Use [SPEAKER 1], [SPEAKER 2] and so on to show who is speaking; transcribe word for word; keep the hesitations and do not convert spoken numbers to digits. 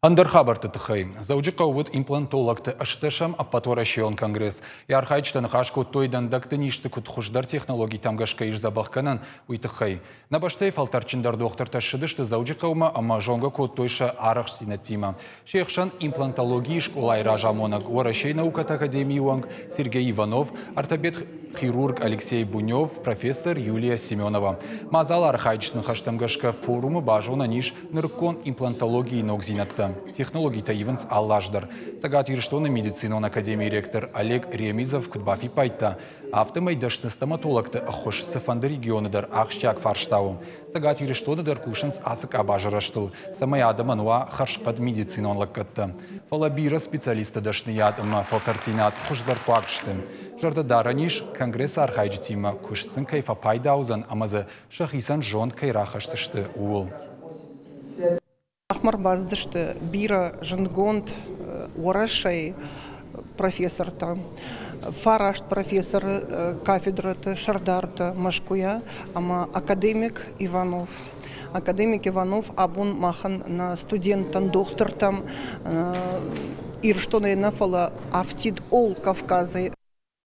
[SPEAKER 1] Ӕндӕр хабӕртты тыххӕй. Дзӕуджыхъӕуы уыд имплантологты ӕстдӕсӕм ӕппӕтуӕрӕсейон конгресс. Йӕ архайджытӕ ныхас кодтой, дӕндӕгты низты куыд хуыздӕр технологитӕм гӕсгӕ ис дзӕбӕхгӕнӕн, уый тыххӕй. Нӕ бӕстӕйы фӕлтӕрдджындӕр дохтыртӕ ссыдысты Дзӕуджыхъӕумӕ ӕмӕ зонгӕ кодтой сӕ арӕхстдзинӕдтимӕ. Се хсӕн имплантологийы скъолайы разамонӕг, Уӕрӕсейы наукӕты академийы уӕнг Сергей Иванов, ортопед-хирург Алексей Бунев, профессор Юлия Семенова. Мадзалы архайджыты ныхӕстӕм гӕсгӕ, форумы базонӕн ис нырыккон имплантологийы ногдзинӕдтӕ. Технологитӕ ивынц алы аз дӕр. Цӕгат Ирыстоны медицинон академийы ректор Олег Ремизов куыд бафиппайдта, афтӕмӕй дӕсны стоматологты ӕххуыс цыфӕнды регионы дӕр ахсджиаг фарста у. Цӕгат Ирыстоны дӕр кусынц ацы къабазы рӕзтыл, цӕмӕй адӕмӕн уа хӕрзхъӕд медицинон лӕггӕдтӕ. Фӕлӕ бирӕ специалистты дӕсныйад ӕмӕ фӕлтӕрддзинад хуыздӕр хъуаг сты. Зӕрдӕ дарӕн ис, конгрессы архайджытимӕ куыст сын кӕй фӕпайда уыдзӕн ӕмӕ дзы сӕхицӕн зонд кӕй рахӕсдзысты, ууыл.
[SPEAKER 2] Махмӕ ӕрбацыдысты бирӕ зындгонд Уӕрӕсейы профессортӕ, фараст профессоры, кафедрӕты сӕрдартӕ Мӕскуыйӕ ӕмӕ академик Иванов. Академик Иванов абон махӕн, нӕ студенттӕн, дохтыртӕм Ирыстонӕй нӕ, фӕлӕ афтид ол Кавказӕй.